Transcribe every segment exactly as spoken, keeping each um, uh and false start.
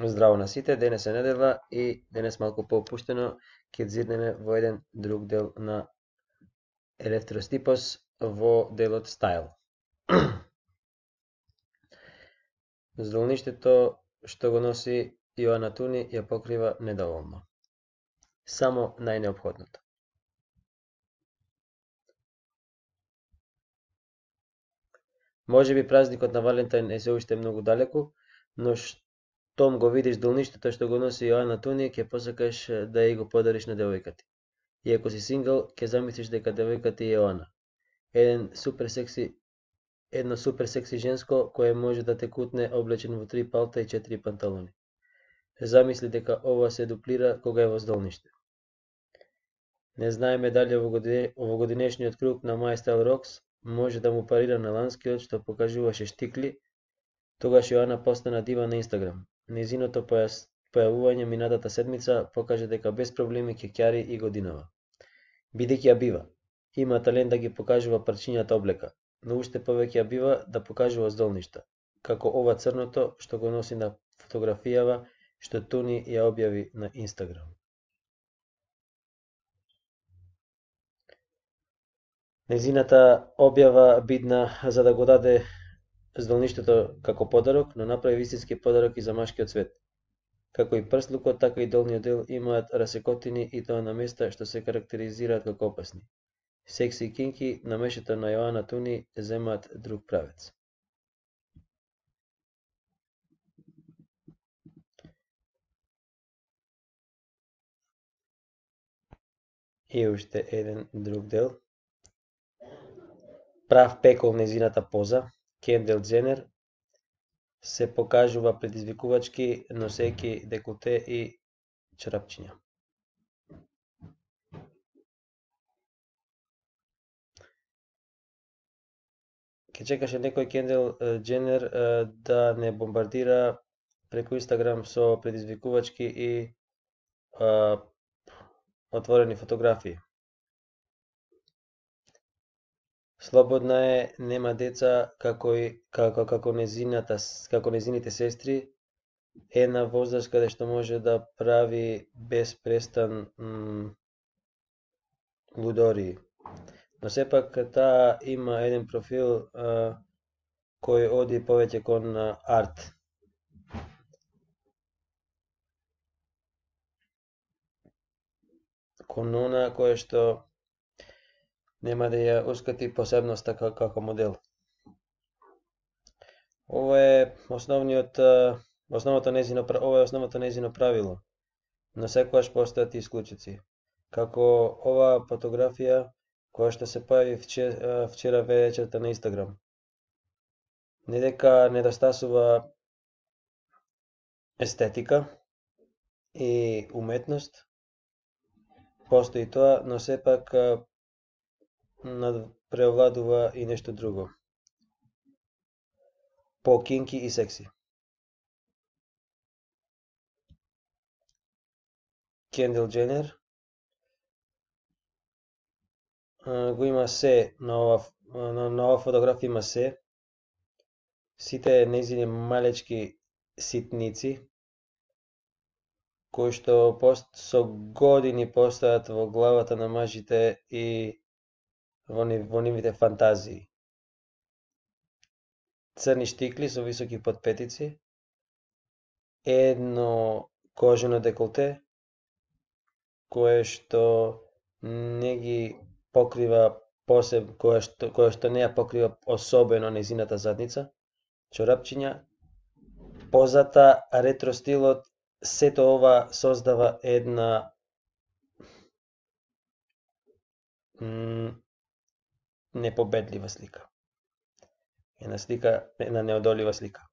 Здраво на сите, денес е недела и денес малку поопуштено ќе зирнеме во еден друг дел на Електростипос во делот Стайл. Здолништето што го носи Јоана Туни ја покрива недоволно. Само најнеопходното. Може би празникот на Валентин е се уште многу далеку, но штом го видиш долништето што го носи Јоана Туни, ќе посакаш да ја го подариш на девојка ти. И ако си сингл, ќе замислиш дека девојка ти е Јоана. Еден супер секси, едно супер секси женско кое може да те кутне облечен во три палта и четири панталони. Замисли дека ова се дуплира кога е во здолниште. Не знаеме дали овогодинешниот круг на My Style Rocks може да му парира на ланскиот што покажуваше штикли. Тогаш Јоана постана дива на Инстаграм. Незиното појавување минатата седмица покажа дека без проблеми ќе ќари и годинава. Бидејќи ја бива, има талент да ги покажува парчињата облека, но уште повеќе ја бива да покажува здолништа, како ова црното што го носи на фотографијава што Туни ја објави на Инстаграм. Незината објава бидна за да го даде здолништето како подарок, но направи вистински подарок и за машкиот свет. Како и прслукот, така и долниот дел имаат расекотини и тоа на места што се карактеризираат како опасни. Секси и кинки на мешето на Јоана Туни земаат друг правец. И уште еден друг дел. Прав пекол незината поза, Кендал Џенер, се покажува предизвикувачки, носејќи деколте и чорапчиња. Ке чекаше некој Кендал Џенер да не бомбардира преку Инстаграм со предизвикувачки и а, отворени фотографии. Слободна е, нема деца, како и како како незината како незините сестри, е на возраст каде што може да прави без престан м, лудории. Но сепак таа има еден профил а, кој оди повеќе кон арт. Кон она кое што нема да ја ускати посебноста како модел. Ова е основниот основното незино ова е основното незино правило, но секогаш постојат исклучици. Како оваа фотографија која што се појави вчера, вчера вечерта на Инстаграм. Не дека недостасува естетика и уметност, постои тоа, но сепак преовладува и нешто друго. По кинки и секси. Кендал Џенер го има се на ова на, на ова фотографија има се. Сите незини малечки ситници кои што пост со години постојат во главата на мажите и во, во нивните фантазии. Црни штикли со високи подпетици, едно кожено деколте, кое што не ги покрива посеб, кое што, кое што не ја покрива особено незината задница, чорапчиња, позата, ретро стилот, сето ова создава една м, непобедлива слика. Една слика, една неодолива слика.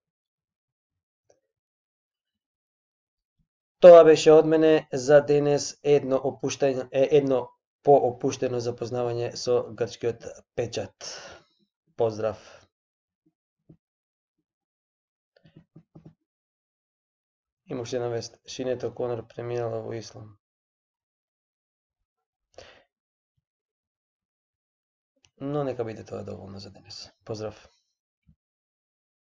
Тоа беше од мене за денес едно опуштање, едно поопуштено запознавање со грчкиот печат. Поздрав! Има уште една вест. Шинет О'Конор преминала во ислам. Но нека биде тоа доволно за денес. Поздрав!